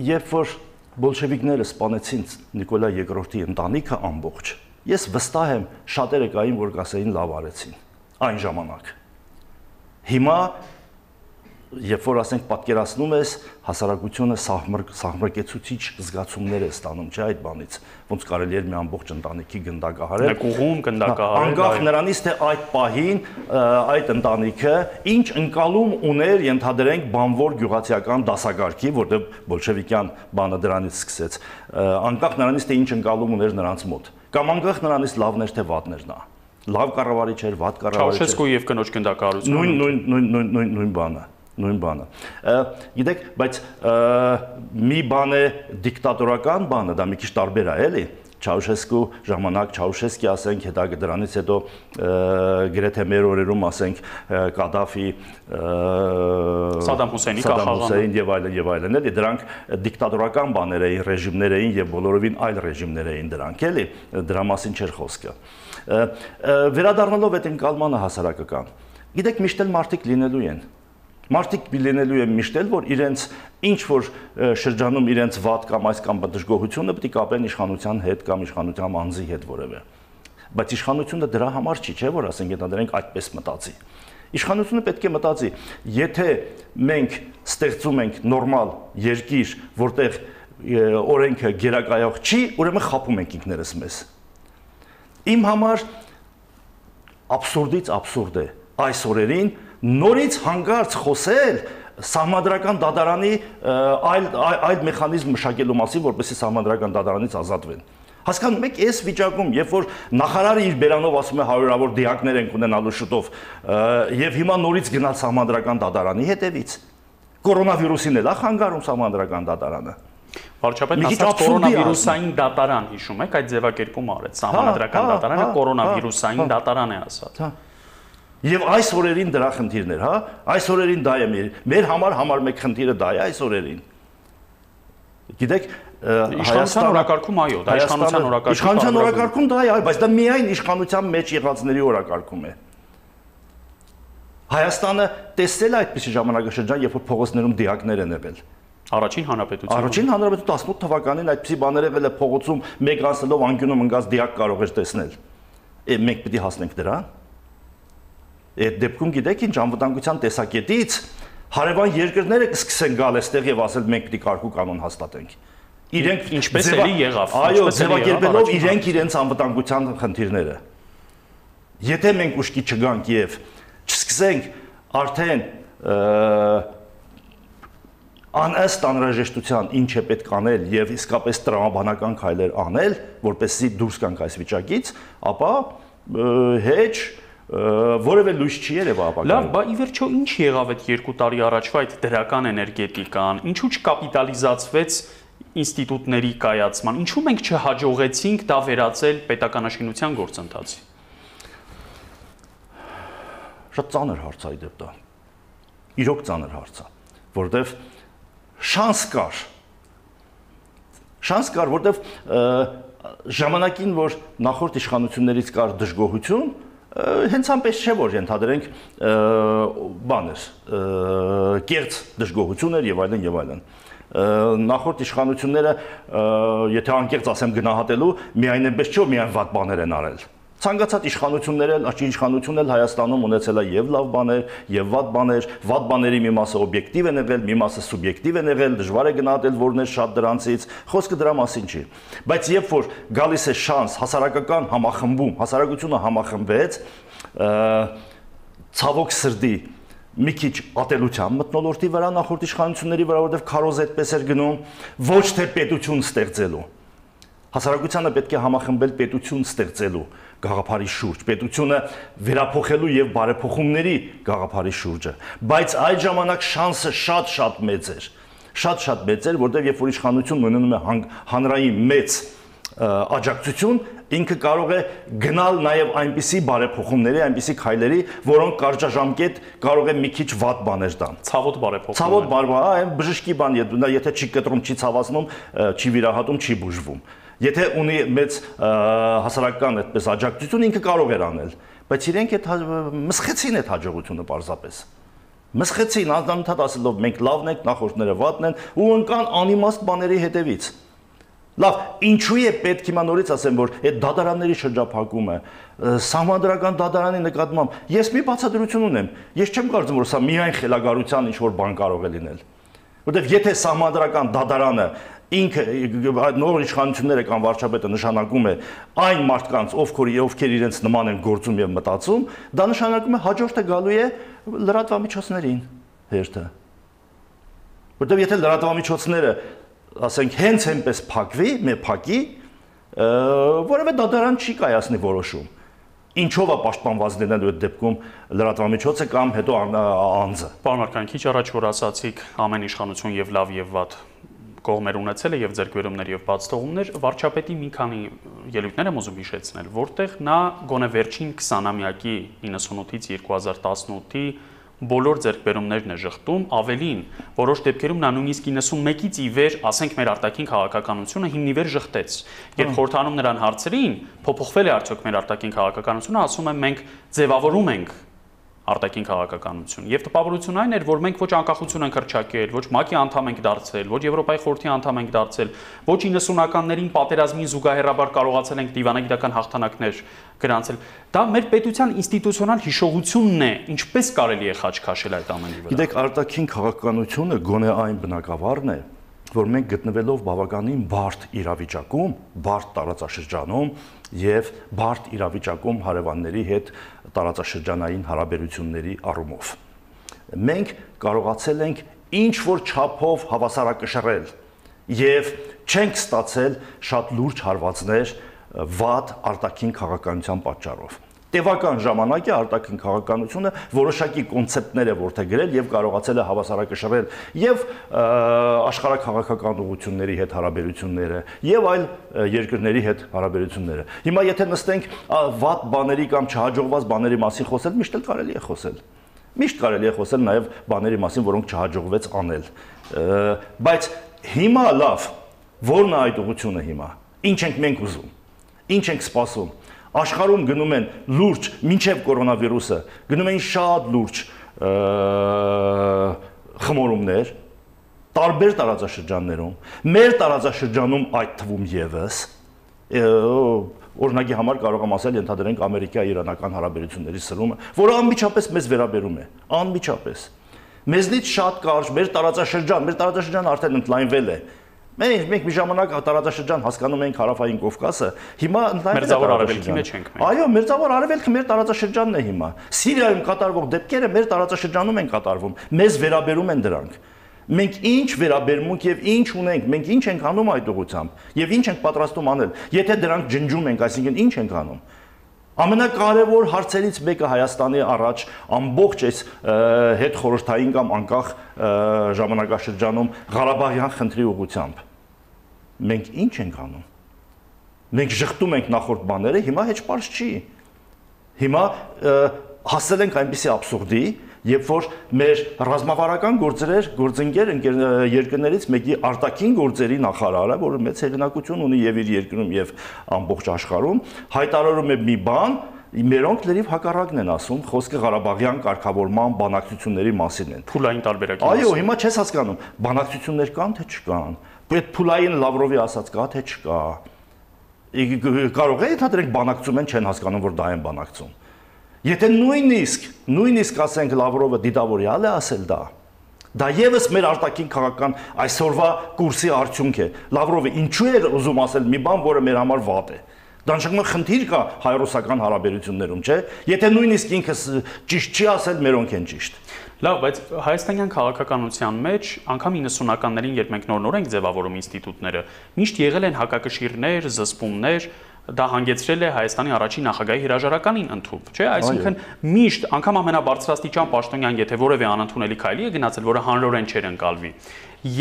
երբ որ բոլշևիկները սպանեցին Նիկոլայ երկրորդի ընտանիքը ամբողջ, ես վստահ եմ շատերը կային, որ կասեին լավ արեցին այն ժամանակ։ Հիմա երբ որ ասենք պատկերացնում ես, հասարակությունը սահմռկեցուցիչ զգացումներ է ստանում, չէ՞ այդ բանից, ոնց կարելի էր մի ամբողջ ընտանիքի գնդակահարել։ Մեկուղում գնդակահարել։ Անկախ նրանից, թե այդ պահին այդ ընտանիքը ինչ ընկալում ուներ, ենթադրենք բանվոր գյուղացիական դասակարգի, որտեղ բոլշևիկյան բանը դրանից սկսեց, անկախ նրանից, թե ինչ ընկալում ուներ նրանց մոտ, կամ անկախ նրանից լավն էր թե վատն էր նա։ Լավ կառավարիչ էր, վատ կառավարիչ էր։ Չաուշեսկու եւ կնոջ գնդակահարությունը։ Նույն նույն նույն նույն նույն բանը։ Նույն բանը։ Գիտեք, բայց մի բան է դիկտատորական բանը, դա մի քիչ տարբեր է, էլի։ Չաուշեսկու ժամանակ, Չաուշեսկի ասենք, հետո դրանից հետո գրեթե մեր օրերում ասենք Կադաֆի, Սադամ Հուսեյնի Հուսեյն եւ այլն եւ այլն, էլի, դրանք դիկտատորական բաներ էին, ռեժիմներ էին եւ բոլորովին այլ ռեժիմներ էին դրանք, էլի, դրա մասին չէր խոսքը։ Վերադառնալով այդ ընկալմանը հասարակական, գիտեք, միշտ էլ մարդիկ լինելու են։ Մարդիկ լինելու են միշտ էլ, որ իրենց ինչ որ շրջանում իրենց վատ կամ այս կամ դժգոհությունը պետք է կապեն իշխանության հետ կամ իշխանության անձի հետ որևէ։ Բայց իշխանությունը դրա համար չի, չէ՞ որ ասենք ենթադրենք այդպես մտածի։ Իշխանությունը պետք է մտածի, եթե մենք ստեղծում ենք նորմալ երկիր, որտեղ օրենքը գերակայող չի, ուրեմն խափում ենք ինքներս մեզ։ Իմ համար աբսուրդից աբսուրդ է այս օրերին նորից հանգարց խոսել սահմանադրական դատարանի այլ այլ մեխանիզմ մշակելու մասին, որպեսզի սահմանադրական դատարանից ազատվեն։ Հասկանում եք, այս վիճակում, երբ որ նախարարը իր բերանով ասում է հարյուրավոր դիակներ ենք ունենալու շուտով, եւ հիմա նորից գնալ սահմանադրական դատարանի հետևից, կորոնավիրուսին էլ է խանգարում սահմանադրական դատարանը։ Վարչապետն ասաց կորոնավիրուսային դատարան, հիշում եք, այդ ձևակերպումը արեց, սահմանադրական դատարանը կորոնավիրուսային դատարան է ասած։ Եվ այս օրերին դրա խնդիրներ, հա, այս օրերին դա է մեր, մեր համար համար մեկ խնդիրը դա է այս օրերին։ Գիտեք, իշխանության օրակարգում այո, դա իշխանության օրակարգում։ Իշխանության օրակարգում դա է, այո, բայց դա միայն իշխանության մեջ եղածների օրակարգում է։ Հայաստանը տեսել է այդպիսի ժամանակաշրջան, երբ որ փողոցներում դիակներ են եղել։ Առաջին հանրապետությունը։ Առաջին հանրապետությունը տասնութ թվականին այդպիսի բաներ եղել է փողոցում, մեկ անցնելով անկյունում ընկած դիակ կարող էր տեսնել։ Մենք պետք է հասնենք դրան։ Այդ դեպքում գիտեք ինչ, անվտանգության տեսակետից հարևան երկրները կսկսեն գալ այստեղ եւ ասել մենք պետք է կարգու կանոն հաստատենք։ Իրենք ինչպես էլի եղավ, այո, ձևակերպելով իրենք իրենց անվտանգության խնդիրները։ Եթե մենք ուշքի չգանք եւ չսկսենք արդեն անըստ անհրաժեշտության ինչ է պետք անել եւ իսկապես տրամաբանական քայլեր անել, որպեսզի դուրս գանք այս վիճակից, ապա հեչ որևէ լույս չի երևա ապագայում։ Լավ, բա ի վերջո ինչ եղավ այդ երկու տարի առաջվա այդ դրական էներգետիկան, ինչու չկապիտալիզացվեց ինստիտուտների կայացման, ինչու մենք չհաջողեցինք դա վերածել պետականաշինության գործընթացի։ Շատ ծանր հարց է այդ դա։ Իրոք ծանր հարց է, որտեվ շանս կար։ Շանս կար, որտեվ ժամանակին, որ նախորդ իշխանություններից կար դժգոհություն, հենց այնպես չէ, որ ենթադրենք բան էր, կեղծ դժգոհություն էր եւ այլն եւ այլն։ Նախորդ իշխանությունները, եթե անկեղծ ասեմ գնահատելու, միայն այնպես չէ, որ միայն վատ բաներ են արել։ Ցանկացած իշխանություններ էլ, աչքի իշխանություն էլ Հայաստանում ունեցել է եւ լավ բաներ, եւ վատ բաներ, վատ բաների մի մասը օբյեկտիվ են եղել, մի մասը սուբյեկտիվ են եղել, դժվար է գնահատել որներ շատ դրանցից, խոսքը դրա մասին չի։ Բայց երբ որ գալիս է շանս հասարակական համախմբում, հասարակությունը համախմբեց, ցավոք սրտի մի քիչ ատելության մթնոլորտի վրա նախորդ իշխանությունների վրա, որովհետեւ քարոզ այդպես էր գնում, ոչ թե պետություն ստեղծելու։ Հասարակությանը պետք է համախմբել պետություն ստեղծելու գաղափարի շուրջ, պետությունը վերափոխելու եւ բարեփոխումների գաղափարի շուրջը, բայց այդ ժամանակ շանսը շատ-շատ մեծ էր, շատ-շատ մեծ էր, որտեղ երբ որ իշխանությունն ունենում է հանրային մեծ աջակցություն, ինքը կարող է գնալ նաեւ այնպիսի բարեփոխումների, այնպիսի քայլերի, որոնք կարճաժամկետ կարող է մի քիչ վատ բաներ տան։ Ցավոտ բարեփոխում։ Ցավոտ բարբա, այն բժշկի բան, եթե չի կտրում, չի ցավացնում, չի վիրահատում, չի բուժվում։ Եթե ունի մեծ հասարակական այդպես աջակցություն, ինքը կարող էր անել, բայց իրենք այդ մսխեցին այդ հաջողությունը պարզապես։ Մսխեցին, անընդհատ ասելով մենք լավն ենք, նախորդները վատն են ու ընկան անիմաստ բաների հետևից։ Լավ, ինչու է պետք հիմա նորից ասեմ, որ այդ դատարանների շրջափակումը, սահմանադրական դատարանի նկատմամբ, ես մի բացատրություն ունեմ, ես չեմ կարծում, որ սա միայն խելագարության ինչ-որ բան կարող է լինել։ Որտեվ եթե սահմանադրական դատարանը ինքը նոր իշխանությունները կամ վարչապետը նշանակում է այն մարդկանց, ովքեր ովքեր իրենց նման են գործում եւ մտածում, դա նշանակում է հաջորդը գալու է լրատվամիջոցներին հերթը։ Որտեւ եթե լրատվամիջոցները, ասենք, հենց այնպես փակվի, մե փակի, որևէ դատարան չի կայացնի որոշում։ Ինչով է պաշտպանված լինելու այդ դեպքում լրատվամիջոցը կամ հետո անձը։ Պարոն Մարկարյան, քիչ առաջ որ ասացիք ամեն իշխանություն եւ լավ եւ վատ կողմեր ունեցել է եւ ձեռքբերումներ եւ բաց թողումներ, վարչապետի մի քանի ելույթներ եմ ուզում հիշեցնել, որտեղ նա գոնե վերջին քսանամյակի նինասունութից երկու հազար տասնութի բոլոր ձեռքբերումներն է ժխտում, ավելին, որոշ դեպքերում նա նույնիսկ իննսունմեկից ի վեր, ասենք, մեր արտաքին քաղաքականությունը հիմնիվեր ժխտեց։ Երբ խորհրդանում նրան հարցրին, փոփոխվել է արդյոք մեր արտաքին քաղաքականությունը, ասում եմ, մենք ձևավորում ենք արտաքին քաղաքականություն։ Եվ տպավորություն այն էր, որ մենք ոչ անկախություն ենք հռչակել, ոչ ՄԱԿ-ի անդամ ենք դարձել, ոչ Եվրոպայի խորհրդի անդամ ենք դարձել, ոչ իննսունականներին պատերազմին զուգահեռաբար կարողացել ենք դիվանագիտական հաղթանակներ գրանցել։ Դա մեր պետության ինստիտուցիոնալ հիշողությունն է, ինչպես կարելի է խաչ քաշել այդ ամենի վրա։ Գիտեք, արտաքին քաղաքականությունը գոնե այն բնակավարն է, որ մենք գտնվելով բավականին բարդ իրավիճակում, բարդ տարածաշրջանում եւ բարդ իրավիճակում հարևանների հետ տարածաշրջանային հարաբերությունների առումով մենք կարողացել ենք ինչ որ չափով հավասարակշռել եւ չենք ստացել շատ լուրջ հարվածներ վատ արտաքին քաղաքականության պատճառով։ Տևական ժամանակ է արտաքին քաղաքականությունը որոշակի կոնցեպտներ է որդեգրել եւ կարողացել է հավասարակշռել եւ աշխարհաքաղաքական ուղղությունների հետ հարաբերությունները եւ այլ երկրների հետ հարաբերությունները։ Հիմա եթե նստենք վատ բաների կամ չհաջողված բաների մասին խոսել, միշտ էլ կարելի է խոսել։ Միշտ կարելի է խոսել նաեւ բաների մասին, որոնք չհաջողվեց անել։ Բայց հիմա լավ, ո՞րն է այդ ուղղությունը հիմա։ Ինչ ենք մենք ուզում։ Ինչ ենք սպասում։ Աշխարհում գնում են լուրջ, մինչև կորոնավիրուսը, գնում են շատ լուրջ խմորումներ, տարբեր տարածաշրջաններում, մեր տարածաշրջանում այդ թվում եւս, օրինակի համար կարող եմ ասել, ենթադրենք Ամերիկա-իրանական հարաբերությունների սրումը, որը անմիջապես մեզ վերաբերում է, անմիջապես։ Մեզնից շատ կարճ, մեր տարածաշրջան, մեր տարածաշրջանը արդեն ընդլայնվել է։ Մենք մենք մի ժամանակ տարածաշրջան հասկանում ենք Հարավային Կովկասը, հիմա Մերձավոր Արևելքի մեջ ենք մենք։ Այո, Մերձավոր Արևելքը մեր տարածաշրջանն է հիմա։ Սիրիայում կատարվող դեպքերը մեր տարածաշրջանում են կատարվում, մեզ վերաբերում են դրանք։ Մենք ինչ վերաբերմունք եւ ինչ ունենք, մենք ինչ ենք անում այդ ուղղությամբ եւ ինչ ենք պատրաստում անել։ Եթե դրանք ջնջում ենք, այսինքն ինչ ենք անում։ Ամենակարևոր հարցերից մեկը Հայաստանի առաջ ամբողջ այս հետ խորհրդային կամ անկախ ժամանակաշրջանում Ղարաբաղյան խնդրի ուղղությամբ։ մենք ինչ ենք անում։ Մենք շղթում ենք նախորդ բաները, հիմա հեչ պարզ չի։ Հիմա հասել ենք այնպիսի աբսուրդի, երբ որ մեր ռազմավարական գործեր, գործընկեր երկրներից մեկի արտաքին գործերի նախարարը, որը մեծ հեղինակություն ունի եւ իր երկրում եւ ամբողջ աշխարհում, հայտարարում է մի բան, մերոնք լրիվ հակառակն են ասում, խոսքը Ղարաբաղյան կարգավորման բանակցությունների մասին են։ Փուլային տարբերակի մասին։ Այո, հիմա չես հասկանում, բանակցություններ կան թե չկան։ Այդ փուլային Լավրովի ասած կա թե չկա։ Կարող է ընդհանրենք բանակցում են, չեն հասկանում, որ դա են բանակցում։ Եթե նույնիսկ, նույնիսկ ասենք Լավրովը դիտավորյալ է ասել դա, դա եւս մեր արտաքին քաղաքական այսօրվա կուրսի արդյունք է։ Լավրովը ինչու է ուզում ասել մի բան, որը մեր համար վատ է։ Դա նշանակում է խնդիր կա հայ-ռուսական հարաբերություններում, չէ՞։ Եթե նույնիսկ ինքը ճիշտ չի ասել, մերոնք են ճիշտ։ Լավ, բայց հայաստանյան քաղաքականության մեջ անգամ իննսունականներին, երբ մենք նոր-նոր ենք ձևավորում ինստիտուտները, միշտ եղել են հակակշիռներ, զսպումներ, դա հանգեցրել է Հայաստանի առաջին նախագահի հրաժարականին ընդཐུպ, չէ՞, այսինքն միշտ անգամ ամենաբարձրաստիճան պաշտոնյան, եթե որևէ անընդունելի քայլի է գնացել, որը հանրորեն չէր ընկալվի,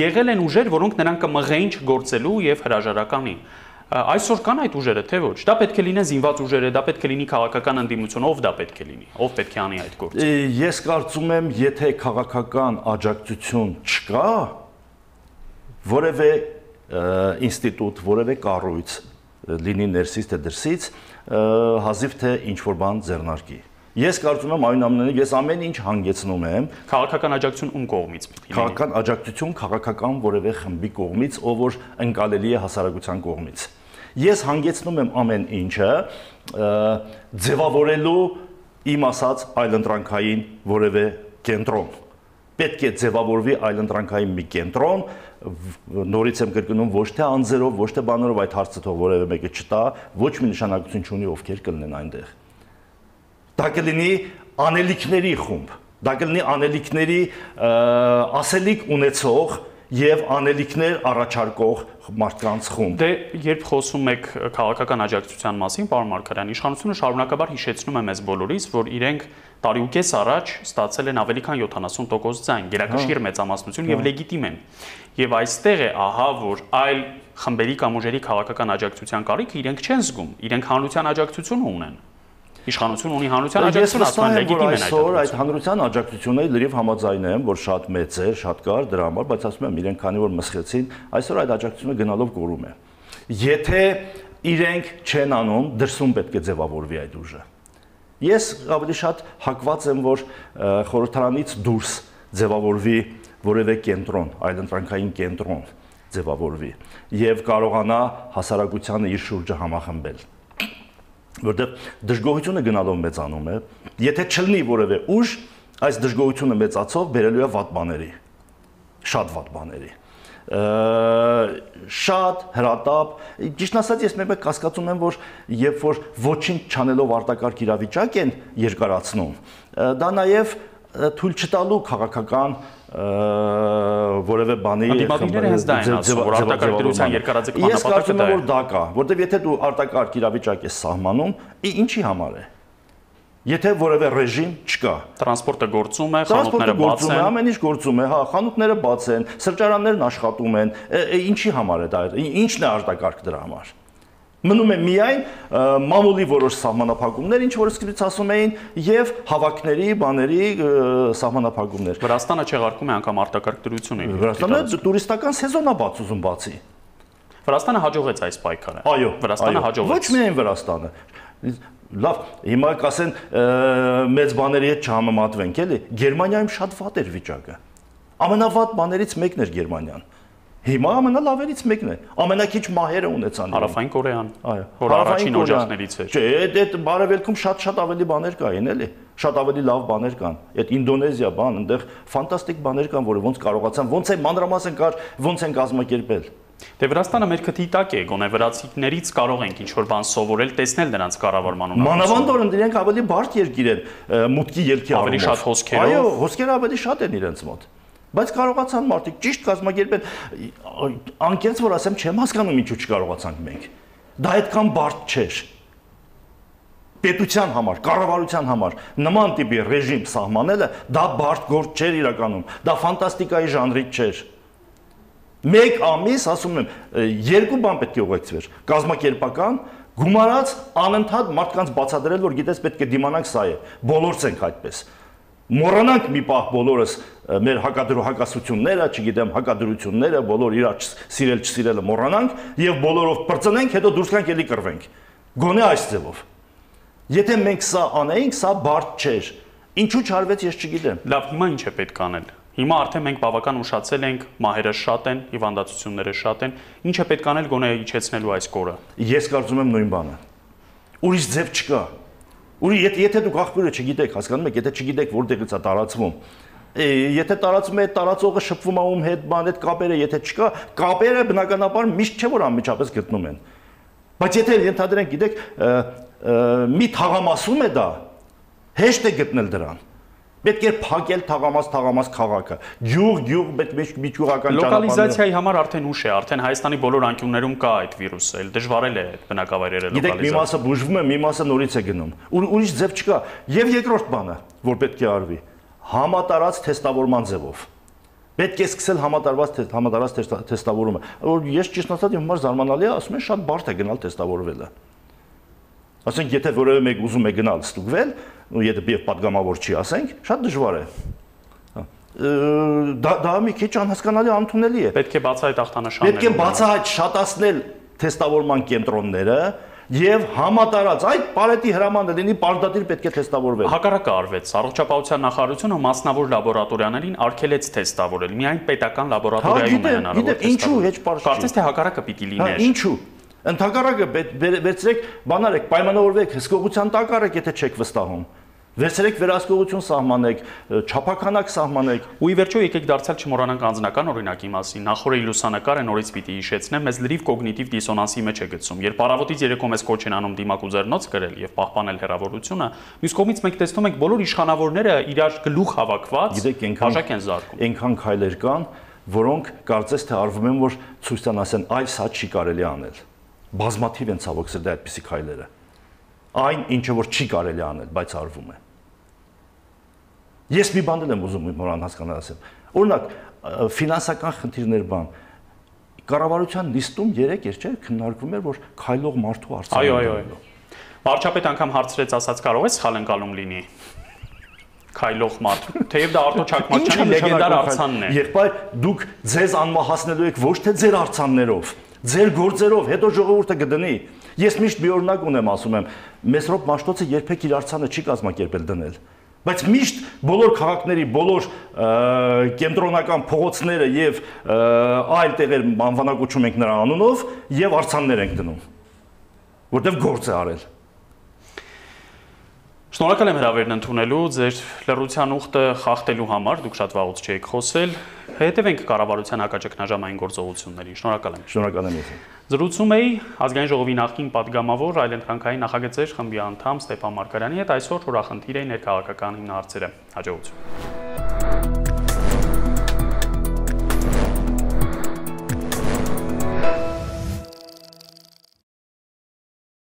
եղել են ուժեր, որոնք նրան կմղեին չգործելու եւ հրաժարականին։ Այսօր կան այդ ուժերը, թե ոչ։ Դա պետք է լինեն զինված ուժերը, դա պետք է լինի քաղաքական ընդդիմություն, ով դա պետք է լինի, ով պետք է անի այդ գործը։ Ես կարծում եմ, եթե քաղաքական աջակցություն չկա, որևէ ինստիտուտ, որևէ կառույց լինի ներսից թե դրսից, հազիվ թե ինչ-որ բան ձեռնարկի։ Ես կարծում եմ այնուամենայնիվ ես ամեն ինչ հանգեցնում եմ քաղաքական աջակցություն ում կողմից պիտի լինի։ Քաղաքական աջակցություն քաղաքական որևէ խմբի կողմից, ով որ ընկալելի է հասարակության կողմից։ Ես հանգեցնում եմ ամեն ինչը ձևավորելու իմ ասած այլընտրանքային որևէ կենտրոն։ Պետք է ձևավորվի այլընտրանքային մի կենտրոն, նորից եմ կրկնում, ոչ թե անձերով, ոչ թե բաներով այդ հարցը թող որևէ մեկը չտա, ոչ մի նշանակություն չունի ովքեր կլինեն այնտեղ։ Դա կլինի անելիքների խումբ, դա կլինի անելիքների ասելիք ունեցող եւ անելիքներ առաջարկող մարդկանց խումբ։ Դե երբ խոսում եք քաղաքական աջակցության մասին, պարոն Մարգարյան, իշխանությունը շարունակաբար հիշեցնում է մեզ բոլորիս, որ իրենք տարի ու կես առաջ ստացել են ավելի քան յոթանասուն տոկոս ձայն, գերակշիռ մեծամասնություն եւ լեգիտիմ են։ Եվ այստեղ է, ահա, որ այլ խմբերի կամ ուժերի քաղաքական աջակցության կարիքը իրենք չեն զգում, իրենք հանրության աջակցություն ունեն։ Իշխանություն ունի հանրության աջակցություն, ասում են լեգիտիմ են այդ։ Այսօր այդ հանրության աջակցությունը լրիվ համաձայն եմ, որ շատ մեծ է, շատ կար դրա համար, բայց ասում եմ, իրենք քանի որ մսխեցին, այսօր այդ աջակցությունը գնալով կորում է։ Եթե իրենք չեն անում, դրսում պետք է ձևավորվի այդ ուժը։ Ես ավելի շատ հակված եմ, որ խորհրդարանից դուրս ձևավորվի որևէ կենտրոն, այլընտրանքային կենտրոն ձևավորվի եւ կարողանա հասարակությանը իր շուրջը համախմբել։ Որտեղ դժգոհությունը գնալով մեծանում է, եթե չլինի որևէ ուժ, այս դժգոհությունը մեծացող բերելու է վատ բաների, շատ վատ բաների, շատ հրատապ, ճիշտ ասած ես մեկ կասկածում եմ, որ երբ որ ոչինչ չանելով արտակարգ իրավիճակ են երկարացնում, դա նաև թույլ չտալու քաղաքական որևէ բանի Անդիմադիրները հենց դա են ասում, որ արտակարգ դրության երկարաձգ նպատակը դա է։ Ես կարծում եմ, որ դա կա, որտեղ եթե դու արտակարգ իրավիճակ ես սահմանում, ինչի համար է։ Եթե որևէ ռեժիմ չկա, տրանսպորտը գործում է, խանութները բաց են, ամեն ինչ գործում է, հա, խանութները բաց են, սրճարաններն աշխատում են, ինչի համար է դա, ինչն է արտակարգ դրա համար։ Մնում է միայն մամուլի որոշ սահմանափակումներ, ինչ որ սկզբից ասում էին, եւ հավաքների, բաների սահմանափակումներ։ Վրաստանը չեղարկում է անգամ արտակարգ դրությունը։ Վրաստանը տուրիստական սեզոնա բաց ուզում բացի։ Վրաստանը հաջողեց այս պայքարը։ Այո, Վրաստանը հաջողեց։ Ոչ միայն Վրաստանը։ Լավ, հիմա կասեն մեծ բաների հետ չհամեմատվենք, էլի։ Գերմանիայում շատ վատ էր վիճակը։ Ամենավատ բաներից մեկն էր Գերմանիան։ Հիմա ամենալավերից մեկն է։ Ամենակիչ մահերը ունեցան։ Հարավային Կորեան, այո, որ առաջին օջախներից էր։ Չէ, այդ բարևելքում շատ-շատ ավելի բաներ կային, էլի։ Շատ ավելի լավ բաներ կան։ Այդ Ինդոնեզիա բան, այնտեղ ֆանտաստիկ բաներ կան, որը ոնց կարողացան, ոնց է մանրամասն կար, ոնց են կազմակերպել։ Դե Վրաստանը մեր քթի տակ է, գոնե վրացիներից կարող ենք ինչ-որ բան սովորել, տեսնել նրանց կառավարման ունակություն։ Մանավանդ որ իրենք ավելի բարդ երկիր են մուտքի ելքի առումով։ Ավելի շատ հոսքերով։ Այո, հոսքերը ավելի շատ են իրենց մոտ։ Բայց կարողացան մարդիկ ճիշտ կազմակերպել, անկեղծ որ ասեմ, չեմ հասկանում ինչու չկարողացանք մենք։ Դա այդքան բարդ չէր։ Պետության համար, կառավարության համար նման տիպի ռեժիմ սահմանելը դա բարդ գործ չէր իրականում, դա ֆանտաստիկայի ժանրից չէր։ Մեկ ամիս, ասում եմ, երկու բան պետք է ուղեկցվեր։ Կազմակերպական, գումարած անընդհատ մարդկանց բացատրել, որ գիտես պետք է դիմանանք սա է։ Բոլորս ենք այդպես։ Մոռանանք մի պահ բոլորս մեր հակադրու հակասությունները, չգիտեմ, հակադրությունները, բոլոր իրար սիրել չսիրելը մոռանանք եւ բոլորով բրծնենք, հետո դուրս գանք ելի կռվենք։ Գոնե այս ձևով։ Եթե մենք սա անեինք, սա բարդ չէր։ Ինչու չարվեց, ես չգիտեմ։ Լավ, հիմա ինչ է պետք անել։ Հիմա արդեն մենք բավական ուշացել ենք, մահերը շատ են, հիվանդացությունները շատ են։ Ինչ է պետք անել գոնե իջեցնելու այս կորը։ Ես կարծում եմ նույն բանը։ Ուրիշ ձև չկա։ Ուրի եթե դուք աղբյուրը չգիտեք, հասկանում եք, եթե չգիտեք որտեղից է տարածվում, եթե տարածվում է, տարածողը շփվում է ում հետ, բան հետ կապերը, եթե չկա, կապերը բնականաբար միշտ չէ որ անմիջապես գտնում են։ Բայց եթե ենթադրենք, գիտեք, մի թաղամասում է դա, հեշտ է գտնել դրան։ Պետք է փակել թաղամաս թաղամաս քաղաքը։ Գյուղ, գյուղ, պետք է միջուղական ճանապարհներ։ Լոկալիզացիայի համար արդեն ուշ է, արդեն Հայաստանի բոլոր անկյուններում կա այդ վիրուսը, էլ դժվարել է բնակավայրերը լոկալիզացիա։ Գիտեք, մի մասը բուժվում է, մի մասը նորից է գնում։ Ուրիշ ձև չկա։ Եվ երկրորդ բանը, որ պետք է արվի, համատարած թեստավորման ձևով։ Պետք է սկսել համատարած համատարած թեստավորումը։ Որ ես ճիշտ ասած իմ համար զարմանալի է, ասում են շատ բարդ է գնալ թեստավորվելը։ Ասենք, եթե որևէ մեկ ուզում է գնալ ստուգվել, ու եթե եւ падգամավոր չի, ասենք, շատ դժվար է։ Դա դա մի քիչ անհասկանալի անընդունելի է։ Պետք է բացահայտ ախտանշաններ։ Պետք է բացահայտ շատացնել թեստավորման կենտրոնները եւ համատարած այդ պարետի հրամանը լինի, պարտադիր պետք է թեստավորվել։ Հակառակը արվեց, առողջապահության նախարարությունը մասնավոր լաբորատորիաներին արգելեց թեստավորել։ Միայն պետական լաբորատորիայում է հնարավոր թեստավորել։ Ինչու հեչ պարզ չի։ Կարծես թե հակառակը պիտի լիներ։ Ինչու։ Ընդհակառակը վերցրեք, բանարեք, պայմանավորվեք, հսկողության տակ արեք, եթե չեք վստահում։ Վերցրեք վերահսկողություն սահմանեք, չափականակ սահմանեք։ Ու ի վերջո եկեք դարձյալ չմոռանանք անձնական օրինակի մասին։ Նախորդի լուսանկարը նորից պիտի հիշեցնեմ, մեզ լրիվ կոգնիտիվ դիսոնանսի մեջ է գցում։ Երբ առավոտից երեկո մեզ կոչ են անում դիմակ ու ձեռնոց գրել եւ պահպանել հեռավորությունը, մյուս կողմից մենք տեսնում ենք բոլոր իշխանավորները իրար գլուխ հավաքված բաժակ են զարկում։ Այնքան քայլեր կան, որոնք կարծես թե արվում են, որ ցույց տան ասեն, այս հա չի կարելի անել։ Բազմաթիվ են ցավոք սրտի այդպիսի քայլերը։ Այն ինչը որ չի կարելի անել, բայց արվում է։ Ես մի բան եմ ուզում նորան հասկանալ ասեմ։ Օրինակ, ֆինանսական խնդիրներ բան։ Կառավարության լիստում երեք էր, չէ՞, քննարկվում էր, որ քայլող մարդու արծան։ Այո, այո, այո։ Վարչապետ անգամ հարցրեց, ասաց, կարող է սխալ ընկալում լինի։ Քայլող մարդ։ Թեև դա Արտո Չակմարչյանի լեգենդար արցանն է։ Եղբայր, դուք ձեզ անմահացնելու եք ոչ թե ձեր արցաններով, ձեր գործերով, հետո ժողովուրդը կդնի։ Ես միշտ մի օրինակ ունեմ, ասում եմ, Մեսրոպ Մաշտոցը երբեք իր արցանը չի կազմակերպել դնել։ Բայց միշտ բոլոր քաղաքների, բոլոր կենտրոնական փողոցները եւ այլ տեղեր անվանակոչում ենք նրա անունով եւ արցաններ ենք դնում, որտեղ գործ է արել։ Շնորհակալ եմ հրավերն ընդունելու, ձեր լռության ուխտը խախտելու համար, դուք շատ վաղուց չէիք խոսել։ Հետևենք կառավարության հակաճգնաժամային գործողություններին։ Շնորհակալ եմ։ Շնորհակալ եմ ես։ Զրուցում էի Ազգային ժողովի նախկին падգամավոր, այլընտրանքային նախագծեր խմբի անդամ Ստեփան Մարգարյանի հետ, այսօր օրախնդիր էին ներքաղաքական հիմնահարցերը։ Հաջողություն։